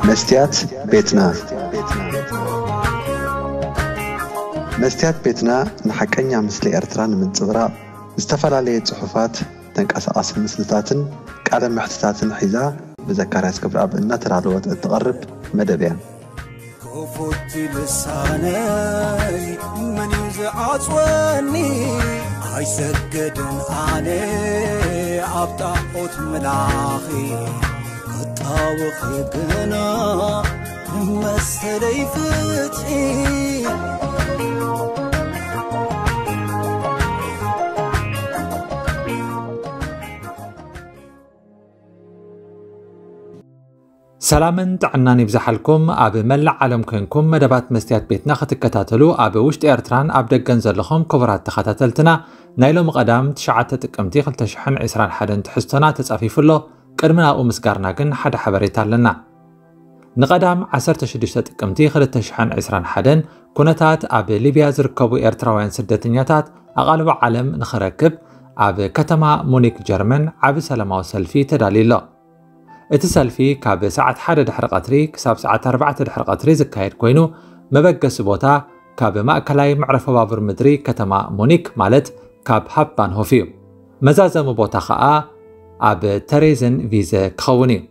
መስትያት ቤትና። መስትያት ቤትና ንሓቀኛ ምስሊ ኤርትራ ንምንጽብራቕ ዝተፈላለየ ጽሑፋት፣ ተንቀሳቓሲ ምስልታትን ቃለ መሕትታትን ሒዛ ብዘካርያስ ገብረኣብ እናተዳለወት እትቐርብ መደብ እያ። ክፉት ልሳነይ መን እዩ ዝዓጽወኒ? ኣይሰግድን ኣነ ኣብ ጣዖት ምላኺ፣ ክጣወኺ ግና መሰለይ ፍትሒ። ሰላምን ጥዕናን ይብዛሓልኩም። ኣብ መላእ ዓለም ኮንኩም መደባት መስትያት ቤትና ክትከታተሉ ኣብ ውሽጢ ኤርትራን ኣብ ደገን ዘለኹም ክቡራት ተኸታተልትና፣ ናይ ሎሚ ቀዳም ትሽዓተ ጥቅምቲ ክልተ ሽሕን ዕስራን ሓደን ትሕዝቶና ተጻፊፉ ኣሎ። ቅድሚ ናብኡ ምስጋርና ግን ሓደ ሓበሬታ ኣለና። ንቐዳም ዓሰርተ ሽዱሽተ ጥቅምቲ ክልተ ሽሕን ዕስራን ሓደን ኩነታት ኣብ ሊብያ ዝርከቡ ኤርትራውያን ስደተኛታት ኣቓልቦ ዓለም ንኽረክብ ኣብ ከተማ ሙኒክ ጀርመን ዓቢ ሰላማዊ ሰልፊ ተዳልዩ ኣሎ። እቲ ሰልፊ ካብ ሰዓት ሓደ ድሕሪ ቀትሪ ክሳብ ሰዓት ኣርባዕተ ድሕሪ ቀትሪ ዝካየድ ኮይኑ፣ መበገሲ ቦታ ካብ ማእከላይ መዕረፎ ባቡር ምድሪ ከተማ ሙኒክ፣ ማለት ካብ ሃፕባንሆፍ እዩ። መዛዘሚ ቦታ ኸኣ ኣብ ተሬዘን ቪዘ ክኸውን እዩ።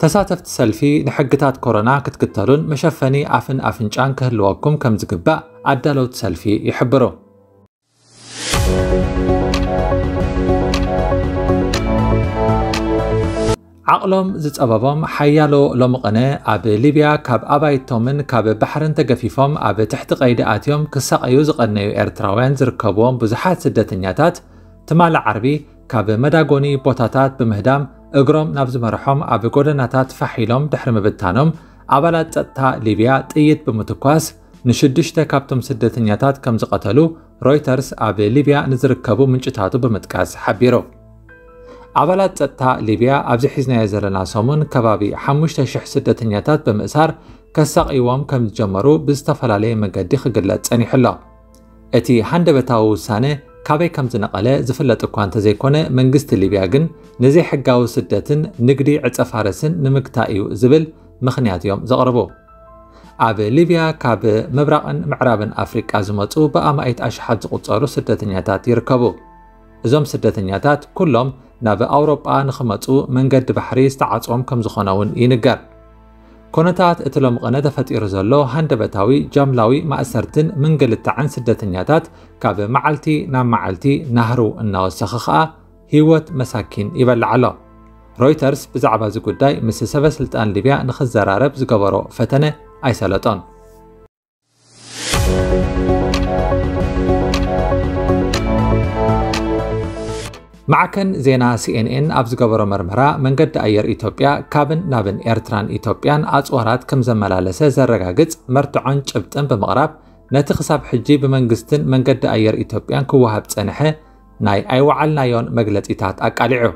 ተሳተፍቲ ሰልፊ ንሕግታት ኮሮና ክትክተሉን መሸፈኒ ኣፍን ኣፍንጫን ክህልወኩም ከም ዝግባእ ኣዳለውቲ ሰልፊ ይሕብሩ። ዓቕሎም ዝጸበቦም ሓያሎ ሎሚ ቅነ ኣብ ሊብያ ካብ ኣባይቶምን ካብ ባሕርን ተገፊፎም ኣብ ትሕቲ ቀይዲ ኣትዮም ክሳቐዩ ዝቐነዩ ኤርትራውያን ዝርከብዎም ብዙሓት ስደተኛታት፣ ትማሊ ዓርቢ ካብ መዳጎኒ ቦታታት ብምህዳም እግሮም ናብ ዝመርሖም ኣብ ጎደናታት ፋሕ ኢሎም ድሕሪ ምብታኖም፣ ኣባላት ጸጥታ ሊብያ ጥይት ብምትኳስ ንሽዱሽተ ካብቶም ስደተኛታት ከም ዝቐተሉ ሮይተርስ ኣብ ሊብያ ንዝርከቡ ምንጭታቱ ብምጥቃስ ሓቢሩ። ኣባላት ጸጥታ ሊብያ ኣብዚ ሒዝናዮ ዘለና ሰሙን ከባቢ ሓሙሽተ ሽሕ ስደተኛታት ብምእሳር ከሳቕይዎም ከም ዝጀመሩ ብዝተፈላለየ መገዲ ክግለጽ ጸኒሑ ኣሎ። እቲ ሃንደበታዊ ውሳነ ካበይ ከም ዝነቐለ ዝፍለጥ እኳ እንተዘይኮነ፣ መንግስቲ ሊብያ ግን ንዘይሕጋዊ ስደትን ንግዲ ዕጸ ፋርስን ንምግታእ እዩ ዝብል ምኽንያት እዮም ዘቕርቡ። ኣብ ሊብያ ካብ ምብራቕን ምዕራብን ኣፍሪቃ ዝመጹ ብኣማኢት ኣሽሓት ዝቑጸሩ ስደተኛታት ይርከቡ። እዞም ስደተኛታት ኩሎም ናብ ኣውሮጳ ንኽመጹ መንገዲ ባሕሪ ዝተዓጽዎም ከም ዝኾነ እውን ይንገር። ኩነታት እቲ ሎሚ ቅነ ተፈጢሩ ዘሎ ሃንደበታዊ ጃምላዊ ማእሰርትን ምንግልታዕን ስደተኛታት ካብ መዓልቲ ናብ መዓልቲ ናህሩ እናወሰኸ ኸኣ ህይወት መሳኪን ይበልዕ ኣሎ። ሮይተርስ ብዛዕባ እዚ ጉዳይ ምስ ሰበ ስልጣን ሊብያ ንኽዘራረብ ዝገበሮ ፈተነ ኣይሰለጦን። ማዕከን ዜና ሲኤንኤን ኣብ ዝገበሮ መርመራ፣ መንገዲ ኣየር ኢትዮጵያ ካብን ናብን ኤርትራን ኢትዮጵያን ኣጽዋራት ከም ዘመላለሰ ዘረጋግጽ መርትዖን ጭብጥን ብምቕራብ፣ ነቲ ክሳብ ሕጂ ብመንግስትን መንገዲ ኣየር ኢትዮጵያን ክወሃብ ጸንሐ ናይ ኣይወዓልናዮን መግለጺታት ኣቃሊዑ።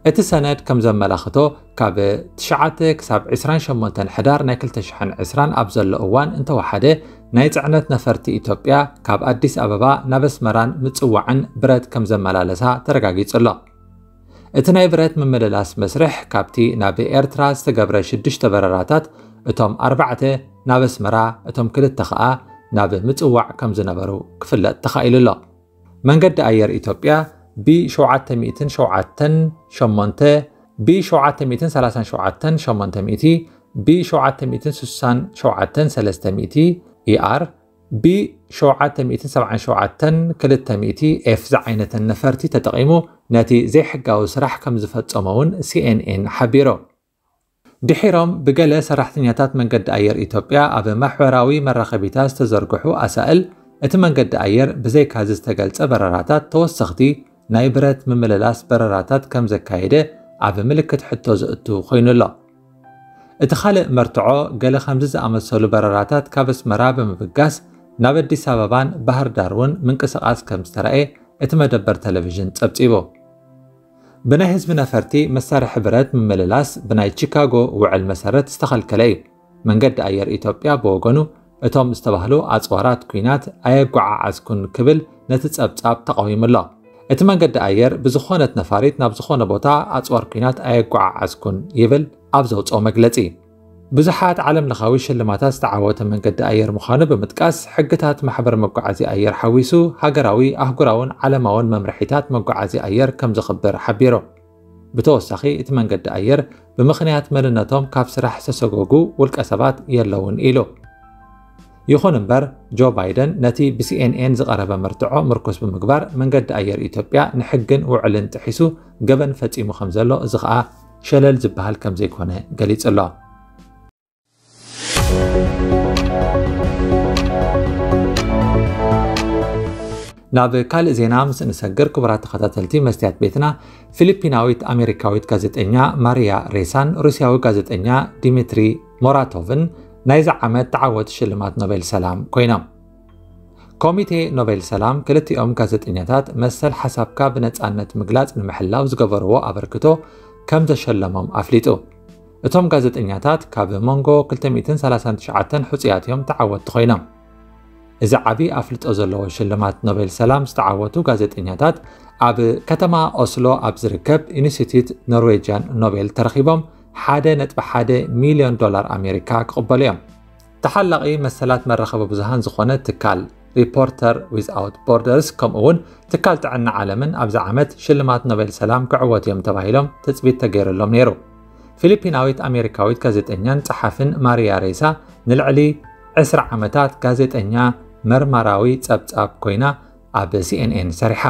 እቲ ሰነድ ከም ዘመላኽቶ፣ ካብ ትሽዓተ ክሳብ ዕስራን ሸሞንተን ሕዳር ናይ ክልተ ሽሕን ዕስራን ኣብ ዘሎ እዋን እንተወሓደ፣ ናይ ጽዕነት ነፈርቲ ኢትዮጵያ ካብ ኣዲስ ኣበባ ናብ ኣስመራን ምጽዋዕን ብረት ከም ዘመላለሳ ተረጋጊጹ ኣሎ። እቲ ናይ ብረት ምምልላስ መስርሕ ካብቲ ናብ ኤርትራ ዝተገብረ ሽዱሽተ በረራታት፣ እቶም ኣርባዕተ ናብ ኣስመራ፣ እቶም ክልተ ኸኣ ናብ ምጽዋዕ ከም ዝነበሩ ክፍለጥ ተኻኢሉ ኣሎ። መንገዲ ኣየር ኢትዮጵያ ቢ ሸውዓተ ሚእትን ሸውዓተን ሸሞንተ፣ ቢ ሸውዓተ ሚእትን ሰላሳን ሸውዓተን ሸሞንተ ሚእቲ፣ ቢ ሸውዓተ ሚእትን ስሳን ሸውዓተን ሰለስተ ሚእቲ፣ ኢኣር፣ ቢ ሸውዓተ ሚእትን ሰብዓን ሸውዓተን ክልተ ሚእቲ ኤፍ ዝዓይነተን ነፈርቲ ተጠቒሙ ነቲ ዘይሕጋዊ ስራሕ ከም ዝፈጸሞ እውን ሲኤንኤን ሓቢሩ። ድሒሮም ብገለ ሰራሕተኛታት መንገዲ ኣየር ኢትዮጵያ ኣብ ማሕበራዊ መራኸቢታት ዝተዘርግሑ ኣሳእል፣ እቲ መንገዲ ኣየር ብዘይካዚ ዝተገልጸ በረራታት ተወሰኽቲ ናይ ብረት ምምልላስ በረራታት ከም ዘካየደ ኣብ ምልክት ሕቶ ዘእቱ ኮይኑ ኣሎ። እቲ ካልእ መርትዖ፣ ገለ ከምዚ ዝኣመሰሉ በረራታት ካብ ኣስመራ ብምብጋስ ናብ ኣዲስ ኣበባን ባህር ዳር እውን ምንቅስቓስ ከም ዝተራእየ እቲ መደበር ቴሌቪዥን ጸብጺቡ። ብናይ ህዝቢ ነፈርቲ መሳርሒ ብረት ምምልላስ ብናይ ቺካጎ ውዕል መሰረት ዝተኸልከለ እዩ። መንገዲ ኣየር ኢትዮጵያ ብወገኑ፣ እቶም ዝተባህሉ ኣጽዋራት ኲናት ኣየጓዓዓዝኩን ክብል ነቲ ጸብጻብ ተቓዊሙ ኣሎ። እቲ መንገዲ ኣየር ብዝኾነት ነፋሪት ናብ ዝኾነ ቦታ ኣጽዋር ኲናት ኣየጓዓዓዝኩን ይብል ኣብ ዘውጽኦ መግለጺ። ብዙሓት ዓለም ለኻዊ ሽልማታት ዝተዓወተ መንገዲ ኣየር ምዃኑ ብምጥቃስ፣ ሕግታት ማሕበር መጓዓዝያ ኣየር ሓዊሱ ሃገራዊ፣ ኣህጉራውን ዓለማውን መምርሒታት መጓዓዝያ ኣየር ከም ዘኽብር ሓቢሩ። ብተወሳኺ፣ እቲ መንገዲ ኣየር ብምኽንያት መንነቶም ካብ ስራሕ ዝተሰጎጉ ውልቀ ሰባት የለውን ኢሉ። ይኹን እምበር፣ ጆ ባይደን ነቲ ብ C N N ዝቐረበ መርትዖ ምርኩስ ብምግባር፣ መንገዲ ኣየር ኢትዮጵያ ንሕግን ውዕልን ጥሒሱ ገበን ፈጺሙ ከም ዘሎ፣ እዚ ኸኣ ሸለል ዝበሃል ከም ዘይኮነ ገሊጹ ኣሎ። ናብ ካልእ ዜና ምስ እንሰግር፣ ክቡራት ተኸታተልቲ መስትያት ቤትና፣ ፊሊፒናዊት ኣሜሪካዊት ጋዜጠኛ ማሪያ ሬሳን ሩስያዊ ጋዜጠኛ ዲሚትሪ ሞራቶቭን ናይዚ ዓመት ተዓወቲ ሽልማት ኖቤል ሰላም ኮይኖም። ኮሚቴ ኖቤል ሰላም ክልቲኦም ጋዜጠኛታት መሰል ሓሳብካ ብነጻነት ምግላጽ ንምሕላው ዝገበርዎ ኣበርክቶ ከም ዘሸለሞም ኣፍሊጡ። እቶም ጋዜጠኛታት ካብ መንጎ ክልተ ሚእትን ሰላሳን ትሽዓተን ሕጹያት እዮም ተዓወትቲ ኮይኖም። እዚ ዓቢ ኣፍልጦ ዘለዎ ሽልማት ኖቤል ሰላም ዝተዓወቱ ጋዜጠኛታት ኣብ ከተማ ኦስሎ ኣብ ዝርከብ ኢንስቲትዩት ኖርዌጅያን ኖቤል ተረኺቦም ሓደ ነጥቢ ሓደ ሚልዮን ዶላር ኣሜሪካ ክቕበሉ እዮም። ተሓላቒ መሰላት መራኸቢ ብዙሃን ዝኾነ ትካል ሪፖርተር ዊዝኣውት ቦርደርስ ከምኡ እውን ትካል ጥዕና ዓለምን ኣብዚ ዓመት ሽልማት ኖቤል ሰላም ክዕወቱ እዮም ተባሂሎም ትጽቢት ተገይሩሎም ነይሩ። ፊሊፒናዊት ኣሜሪካዊት ጋዜጠኛን ጸሓፍን ማሪያ ሬሳ ንልዕሊ ዕስራ ዓመታት ጋዜጠኛ መርማራዊ ጸብጻብ ኮይና ኣብ C N N ሰሪሓ።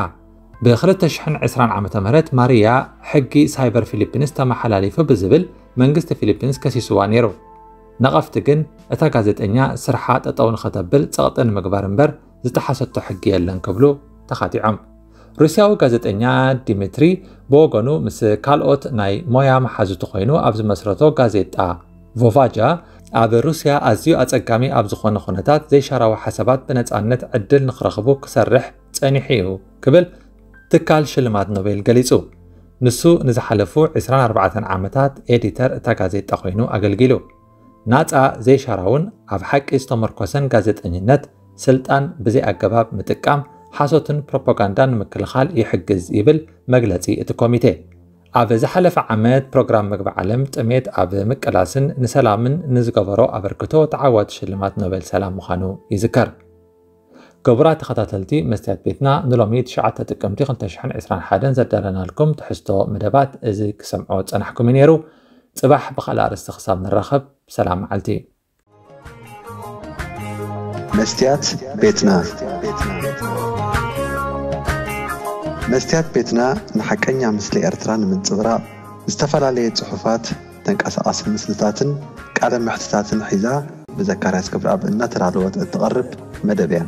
ብ ክልተ ሽሕን ዕስራን ዓመተ ምህረት ማሪያ ሕጊ ሳይበር ፊሊፒንስ ተመሓላሊፉ ብዝብል መንግስቲ ፊሊፒንስ ከሲስዋ ነይሩ። ነቐፍቲ ግን እታ ጋዜጠኛ ስርሓ ጠጠው ንኸተብል ጸቕጢ ንምግባር እምበር ዝጠሓሰቶ ሕጊ የለን ክብሉ ተኻቲዖም። ሩስያዊ ጋዜጠኛ ዲሚትሪ ብወገኑ ምስ ካልኦት ናይ ሞያ መሓዙቱ ኮይኑ ኣብ ዝመስረቶ ጋዜጣ ቮቫጃ ኣብ ሩስያ ኣዝዩ ኣጸጋሚ ኣብ ዝኾነ ኩነታት ዘይሻራዊ ሓሳባት ብነጻነት ዕድል ንኽረኽቡ ክሰርሕ ጸኒሑ እዩ ክብል ትካል ሽልማት ኖቤል ገሊጹ። ንሱ ንዝሓለፉ ዕስራን ኣርባዕተን ዓመታት ኤዲተር እታ ጋዜጣ ኮይኑ ኣገልጊሉ። ናጻ ዘይሻራውን ኣብ ሓቂ ዝተመርኮሰን ጋዜጠኝነት ስልጣን ብዘይ ኣገባብ ምጥቃም ሓሶትን ፕሮፓጋንዳን ንምክልኻል ይሕግዝ ይብል መግለጺ እቲ ኮሚቴ። ኣብ ዝሓለፈ ዓመት ፕሮግራም ምግቢ ዓለም ጥሜት ኣብ ምቅላስን ንሰላምን ንዝገበሮ ኣበርክቶ ተዓዋቲ ሽልማት ኖቤል ሰላም ምዃኑ ይዝከር። ክቡራት ተኸታተልቲ መስትያት ቤትና ንሎሚ ትሽዓተ ጥቅምቲ ክልተ ሽሕን ዕስራን ሓደን ዘዳለናልኩም ትሕዝቶ መደባት እዚ ክሰምዖ ጸናሕኩም እዩ ነይሩ። ጽባሕ ብኻልእ ኣርእስቲ ክሳብ ንራኸብ ሰላም መዓልቲ። መስትያት ቤትና መስትያት ቤትና ንሓቀኛ ምስሊ ኤርትራ ንምንጽብራቕ ዝተፈላለየ ጽሑፋት፣ ተንቀሳቓሲ ምስልታትን ቃለ መሕትታትን ሒዛ ብዘካርያስ ገብረኣብ እናተዳለወት እትቐርብ መደብ እያ።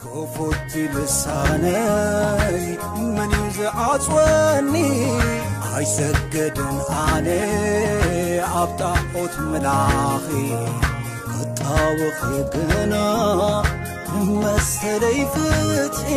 ክፉት ልሳነይ መን እዩ ዝዓጽወኒ? ኣይሰግድን ኣነ ኣብ ጣዖት ምላኺ ክጣወኺ ግና መሰለይ ፍትሒ